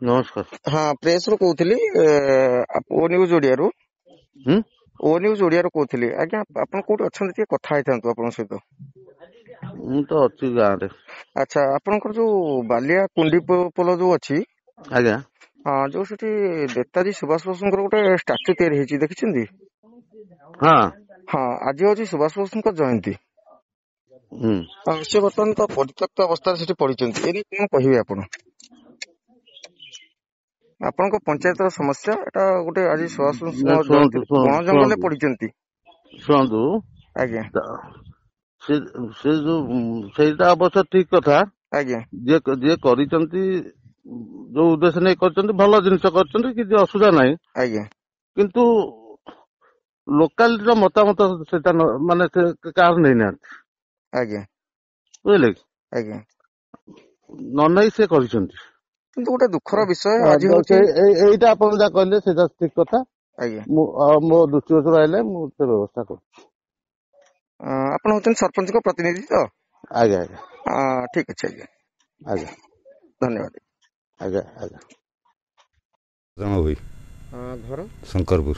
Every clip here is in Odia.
ନମସ୍କାର। ହଁ, ପ୍ରେସ ରୁ କହୁଥିଲି, ଓ ନ୍ୟୁଜ ଓଡିଆରୁ। ହୁଁ। ଓ ନ୍ୟୁଜ ଓଡିଆରୁ କହୁଥିଲି ଆଜ୍ଞା। ଆପଣ କୋଉଠି ଅଛନ୍ତି? ଟିକେ କଥା ହେଇଥାନ୍ତୁ ଆପଣଙ୍କ ସହିତ। ମୁଁ ତ ଅଛି ଗାଁରେ। ଆଚ୍ଛା, ଆପଣଙ୍କର ଯୋଉ ବାଲିଆ କୁଣ୍ଡି ପୋଲ ଯୋଉ ଅଛି? ଆଜ୍ଞା। ହଁ, ଯୋଉ ସେଠି ନେତାଜୀ ସୁଭାଷ ବୋଷଙ୍କର ଗୋଟେ ଷ୍ଟାଚୁ ତିଆରି ହେଇଛି, ଦେଖିଛନ୍ତି? ହଁ। ହଁ, ଆଜି ହଉଛି ସୁଭାଷ ବୋଷଙ୍କ ଜୟନ୍ତୀ। ହୁଁ। ସେ ବର୍ତ୍ତମାନ ତ ପରିତ୍ୟକ୍ତ ଅବସ୍ଥାରେ ସେଠି ପଡିଛନ୍ତି। ଏ ନେଇ କଣ କହିବେ ଆପଣ? ଆପଣଙ୍କ ପଞ୍ଚାୟତର ସମସ୍ୟା ଏଟା ଗୋଟେ। ଆଜି ସୁଭାଷ ବୋଷଙ୍କ ଶୁଣନ୍ତୁ, ଜୟନ୍ତୀ, ବଣ ଜଙ୍ଗଲରେ ପଡିଛନ୍ତି। ଶୁଣନ୍ତୁ। ଆଜ୍ଞା। ସେ ଯୋଉ ସେଇଟା ଅବଶ୍ୟ ଠିକ କଥା। ଆଜ୍ଞା। ଯିଏ କରିଛନ୍ତି, ଯୋଉ ଉଦ୍ଦେଶ୍ୟ ନେଇ କରିଛନ୍ତି, ଭଲ ଜିନିଷ କରିଛନ୍ତି, କିଛି ଅସୁବିଧା ନାହିଁ। ଆଜ୍ଞା। କିନ୍ତୁ ଲୋକାଲିଟିର ମତାମତ ସେଟା ମାନେ ସେ କାହାର ନେଇନାହାନ୍ତି। ଆଜ୍ଞା। ବୁଝିଲେ କି? ଆଜ୍ଞା। ନ ନେଇ ସେ କରିଛନ୍ତି। କିନ୍ତୁ ଗୋଟେ ଦୁଃଖର ବିଷୟ ଆଜି ହଉଛି ଏଇଟା ଆପଣ ଯାହା କହିଲେ ସେଇଟା ଠିକ କଥା। ଆଜ୍ଞା। ମୁଁ ମୋ ଦୃଷ୍ଟିଗୋଚର ଆଇଲେ ମୁଁ ସେ ବ୍ୟବସ୍ଥା କରୁଛି। ଆପଣ ହଉଛନ୍ତି ସରପଞ୍ଚଙ୍କ ପ୍ରତିନିଧି ତ? ଆଜ୍ଞା। ଠିକ ଅଛି ଆଜ୍ଞା। ଆଜ୍ଞା। ଧନ୍ୟବାଦ। ଆଜ୍ଞା। ଭୋଇ। ଘର? ଶଙ୍କରପୁର।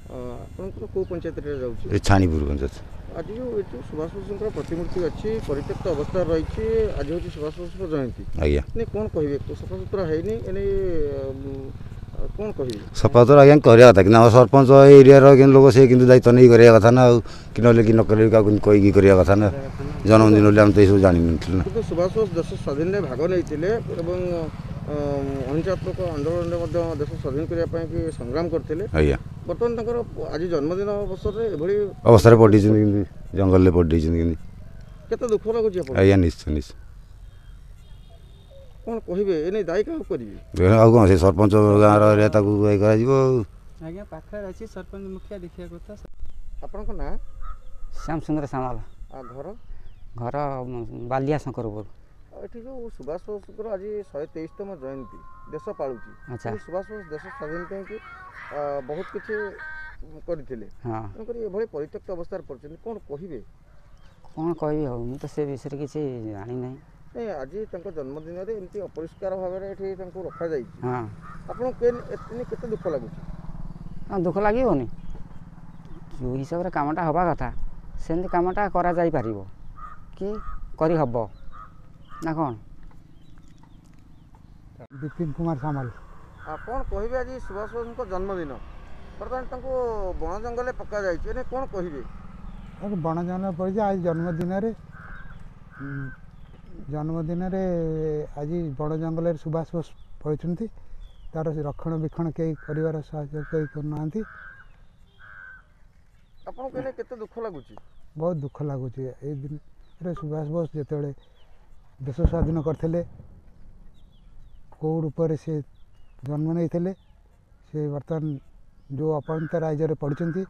ଆପଣଙ୍କର କୋଉ ପଞ୍ଚାୟତରେ ଯାଉଛି? ଏ ଛାଣିପୁର ପଞ୍ଚାୟତ। ଆଜି ଯୋଉ ଏ ଯୋଉ ସୁଭାଷ ବୋଷଙ୍କର ପ୍ରତିମୂର୍ତ୍ତି ଅଛି, ପରିତ୍ୟକ୍ତ ଅବସ୍ଥାରେ ରହିଛି, ଆଜି ହଉଛି ସୁଭାଷ ବୋଷଙ୍କ ଜୟନ୍ତୀ। ଆଜ୍ଞା। ଏ କଣ କହିବେ? ସଫାସୁତୁରା ହେଇନି, ଏ ନେଇ କଣ କହିବେ? ସଫାସୁତୁରା ଆଜ୍ଞା କରିବା କଥା, କିନ୍ତୁ ଆମ ସରପଞ୍ଚ ଏରିଆର କିନ୍ତୁ ଲୋକ, ସେ କିନ୍ତୁ ଦାୟିତ୍ୱ ନେଇ କରିବା କଥା ନା ଆଉ, କି ନହେଲେ କି ନ କଲେ କାହାକୁ କହିକି କରିବା କଥା ନା। ଜନ୍ମଦିନ ବୋଲି ଆମେ ତ ଏସବୁ ଜାଣିନଥିଲୁ ନା। କିନ୍ତୁ ସୁଭାଷ ବୋଷ ଦେଶ ସ୍ୱାଧୀନରେ ଭାଗ ନେଇଥିଲେ ଏବଂ ଅହିଂସାତ୍ମକ ଆନ୍ଦୋଳନରେ ମଧ୍ୟ ଦେଶ ସ୍ୱାଧୀନ କରିବା ପାଇଁ କି ସଂଗ୍ରାମ କରିଥିଲେ। ଆଜ୍ଞା। ବର୍ତ୍ତମାନ ତାଙ୍କର ଆଜି ଜନ୍ମଦିନ ଅବସରରେ ଏଭଳି ଅବସ୍ଥାରେ ପଡ଼ିଛନ୍ତି, କେମିତି ଜଙ୍ଗଲରେ ପଡ଼ିଯାଇଛନ୍ତି କେମିତି। କେତେ ଦୁଃଖ ଲାଗୁଛି ଆପଣ? ଆଜ୍ଞା, ନିଶ୍ଚୟ। କଣ କହିବେ? ଏ ନେଇ ଦାୟୀ କାହାକୁ କରିବେ? ଆଉ କଣ, ସେ ସରପଞ୍ଚ ଗାଁର ଏରିଆ, ତାକୁ ଇଏ କରାଯିବ ଆଉ। ଆଜ୍ଞା, ପାଖରେ ଅଛି ସରପଞ୍ଚ, ମୁଖିଆ ଦେଖିବା କଥା। ଆପଣଙ୍କ ନାଁ? ଶ୍ୟାମ ସୁନ୍ଦର ସାମଲ। ଆଉ ଘର? ଘର ବାଲିଆ ଶଙ୍କରପୁର। ଆଉ ଏଠି ଯୋଉ ସୁଭାଷ ବୋଷଙ୍କର ଆଜି 123ତମ ଜୟନ୍ତୀ ଦେଶ ପାଳୁଛି। ଆଚ୍ଛା। କିନ୍ତୁ ସୁଭାଷ ବୋଷ ଦେଶ ସ୍ୱାଧୀନ ପାଇଁକି ବହୁତ କିଛି କରିଥିଲେ। ହଁ। ତେଣୁକରି ଏଭଳି ପରିତ୍ୟକ୍ତ ଅବସ୍ଥାରେ ପଡ଼ିଛନ୍ତି, କଣ କହିବେ? କ'ଣ କହିବି ଆଉ, ମୁଁ ତ ସେ ବିଷୟରେ କିଛି ଜାଣିନାହିଁ। ନାଇଁ, ଆଜି ତାଙ୍କ ଜନ୍ମଦିନରେ ଏମିତି ଅପରିଷ୍କାର ଭାବରେ ଏଠି ତାଙ୍କୁ ରଖାଯାଇଛି। ହଁ। ଆପଣଙ୍କୁ ଏତେ କେତେ ଦୁଃଖ ଲାଗୁଛି? ହଁ, ଦୁଃଖ ଲାଗିବନି? ଯେଉଁ ହିସାବରେ କାମଟା ହେବା କଥା ସେମିତି କାମଟା କରାଯାଇପାରିବ କି କରିହେବ ନା କ'ଣ? ବିପିନ କୁମାର ସାମଲ। ଆଉ କ'ଣ କହିବେ? ଆଜି ସୁଭାଷ ବୋଷଙ୍କ ଜନ୍ମଦିନ, ବର୍ତ୍ତମାନ ତାଙ୍କୁ ବଣ ଜଙ୍ଗଲରେ ପକାଯାଇଛି, ଏ କ'ଣ କହିବେ? ତାକୁ ବଣ ଜଙ୍ଗଲ ପଡ଼ିଛି ଆଜି ଜନ୍ମଦିନରେ। ଆଜି ବଣ ଜଙ୍ଗଲରେ ସୁଭାଷ ବୋଷ ପଡ଼ିଛନ୍ତି, ତାର ରକ୍ଷଣ ବେକ୍ଷଣ କେହି କରିବାର ସାହାଯ୍ୟ କେହି କରୁନାହାନ୍ତି। ଆପଣଙ୍କୁ ଏନେ କେତେ ଦୁଃଖ ଲାଗୁଛି? ବହୁତ ଦୁଃଖ ଲାଗୁଛି। ଏଇ ଦିନରେ ସୁଭାଷ ବୋଷ ଯେତେବେଳେ ଦେଶ ସ୍ୱାଧୀନ କରିଥିଲେ, କେଉଁ ରୂପରେ ସେ ଜନ୍ମ ନେଇଥିଲେ, ସେ ବର୍ତ୍ତମାନ ଯେଉଁ ଅପରାନ୍ତ ରାଜ୍ୟରେ ପଡ଼ିଛନ୍ତି।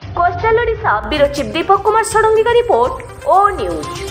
Coastal Odisha bureau chief Deepak Kumar ଷଡ଼ଙ୍ଗୀଙ୍କ ରିପୋର୍ଟ, ଓ ନ୍ୟୁଜ୍।